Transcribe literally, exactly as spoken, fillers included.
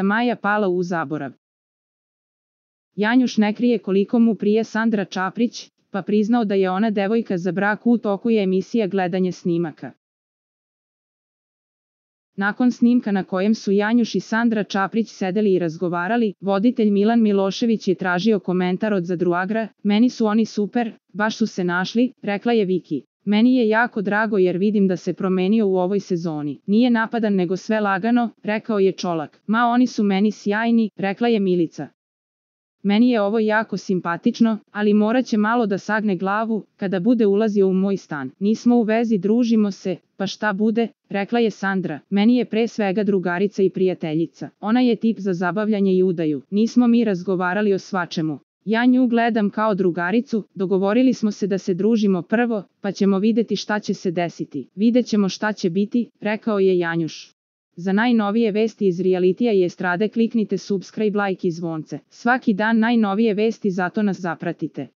Maja pala u zaborav. Janjuš ne krije koliko mu prije Sandra Čaprić, pa priznao da je ona devojka za brak. U toku je emisija Gledanje snimaka. Nakon snimka na kojem su Janjuš i Sandra Čaprić sedeli i razgovarali, voditelj Milan Milošević je tražio komentar od Zadruagra. Meni su oni super, baš su se našli, rekla je Viki. Meni je jako drago jer vidim da se promenio u ovoj sezoni. Nije napadan nego sve lagano, rekao je Čolak. Ma oni su meni sjajni, rekla je Milica. Meni je ovo jako simpatično, ali morat će malo da sagne glavu, kada bude ulazio u moj stan. Nismo u vezi, družimo se, pa šta bude, rekla je Sandra. Meni je pre svega drugarica i prijateljica. Ona je tip za zabavljanje i udaju. Nismo mi razgovarali o svačemu. Ja nju gledam kao drugaricu, dogovorili smo se da se družimo prvo, pa ćemo videti šta će se desiti. Vidjet ćemo šta će biti, rekao je Janjuš. Za najnovije vesti iz realitija i estrade kliknite subscribe, like i zvonce. Svaki dan najnovije vesti, zato nas zapratite.